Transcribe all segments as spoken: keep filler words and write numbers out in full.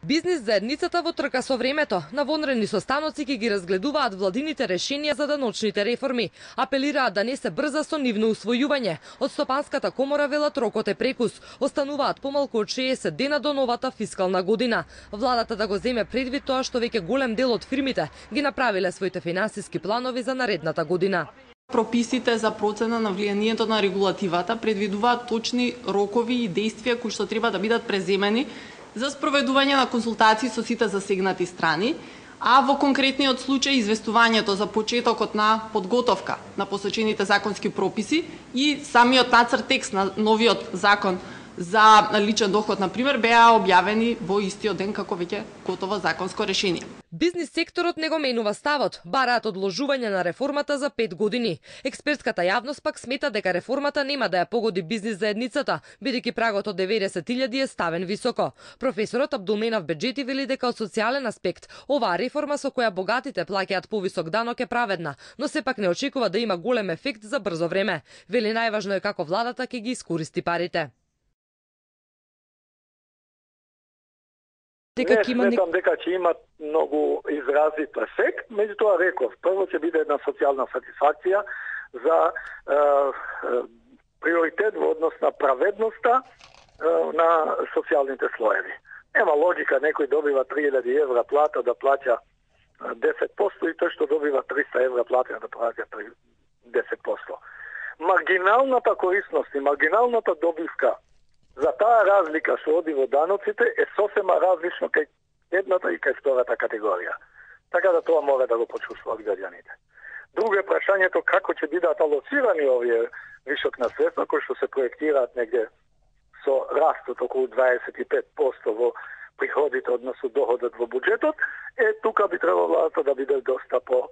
Бизнис заедницата во трка со времето, на вонредни состаноци ќе ги разгледуваат владините решенија за даночните реформи. Апелираат да не се брза со нивно усвојување. Од Стопанската комора велат рокот е прекус. Остануваат помалку од шеесет дена до новата фискална година. Владата да го земе предвид тоа што веќе голем дел од фирмите ги направиле своите финансиски планови за наредната година. Прописите за процена на влијанието на регулативата предвидуваат точни рокови и действија кои што треба да бидат преземени за спроведување на консултации со сите засегнати страни, а во конкретниот случај известувањето за почетокот на подготовка на посочените законски прописи и самиот нацрт текст на новиот закон за личен доход, например, беа објавени во истиот ден како веќе готово законско решение. Бизнис секторот не го менува ставот, бараат одложување на реформата за пет години. Експертската јавност пак смета дека реформата нема да ја погоди бизнис заедницата, бидејќи прагот од деветдесет илјади е ставен високо. Професорот Абдулменав Беџети вели дека од социјален аспект оваа реформа со која богатите плаќаат повисок данок е праведна, но сепак не очекува да има голем ефект за брзо време. Вели најважно е како владата ќе ги искористи парите. Не сметам дека ќе имат многу изразит ефект, меѓутоа реков, прво ќе биде една социјална сатисфакција за е, е, приоритет во однос на праведноста е, на социјалните слоеви. Нема логика некој добива три илјади евра плата да плаќа десет посто и тој што добива триста евра плата да плаќа десет посто. Маргиналната корисност и маргиналната добивка за таа разлика што оди во даноците е сосема различно кај едната и кај втората категорија. Така да тоа мора да го почувствуваат граѓаните. Друго е прашањето како ќе бидат алоцирани овие вишок на средства кои што се проектираат негде со растот околу дваесет и пет посто во приходите односно доходот во буџетот, е тука би требало владата да биде доста по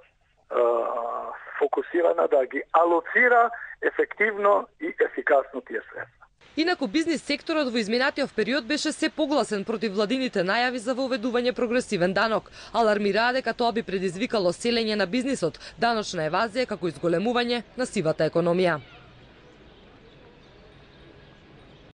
фокусирана да ги алоцира ефективно и ефикасно тие средства. Инаку бизнис секторот во изминатиот период беше се погласен против владините најави за воведување прогресивен данок. Алармираа дека тоа би предизвикало селење на бизнисот, даночна евазија како изголемување на сивата економија.